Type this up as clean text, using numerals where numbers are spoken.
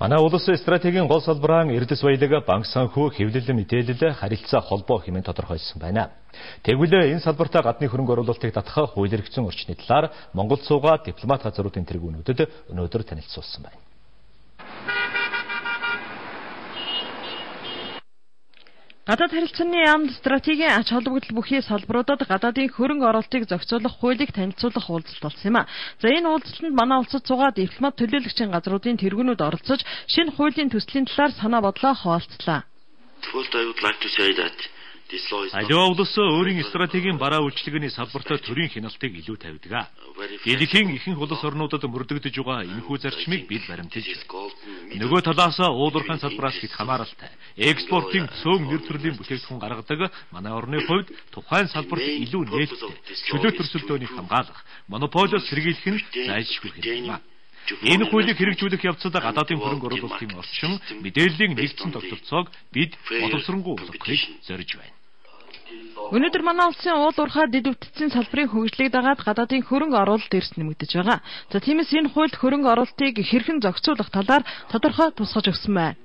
Манай улсын стратегийн гол салбараа эрдэс баялаг, банк санхүү, хэвлэл мэдээлэл, харилцаа холбоо хэмээн тодорхойлсон байна. Тэгвэл энэ салбартаа гадны хөрөнгө оруулалтыг татах хууль эрхцэн орчны талаар Монголд суугаад дипломат газруудын тэргүүнүүдэд өнөөдөр танилцуулсан байна. Гадаад харилцааны яамд стратегийн ач холбогдол бүхий салбаруудад гадаадын хөрөнгө оруулалтыг зохицуулах хуулийг танилцуулах уулзалт болсон юм а. За энэ уулзалтанд манай улсад суугаад дипломат төлөөлөгчийн газруудын тэргүүнүүд оролцож шинэ хуулийн төслийн талаар санаа бодлоо хуваалцлаа. Аливаа улс өөрийн стратегийн бараа үйлчлэгээний салбартаа төрийн хяналтыг илүү тавьдаг. Дэлхийн ихэнх улс орнуудад мөрдөгдөж байгаа энэхүү зарчмыг бид баримталж байна. Нөгөө талаас уулуурхайн салбараас хэд хамааралтай экспортын цөөн нэр төрлийн бүтээгдэхүүн гаргадаг манай орны хувьд тухайн салбарт илүү нээлттэй чөлөө төрсөлдөөнийг хамгаалах, монополиос сэргийлэх нь зайлшгүй хэрэгтэй. Энэ хуулийг хэрэгжүүлэх явцад гадаадын хөрөнгө оруулалтын орчин, мэдээллийн нэгдсэн тогтолцоог бид боловсронгуй болгохыг зорж байна. Өнөөдөр манай улсын уулуурхай дэд үтцийн салбарын хөгжлийг дагаад гадаадын хөрөнгө оруулалт эрс нэмэгдэж байгаа. За тиймээс энэ хуульд хөрөнгө оруулалтыг хэрхэн зохицуулах талаар тодорхой тусгаж өгсөн байна.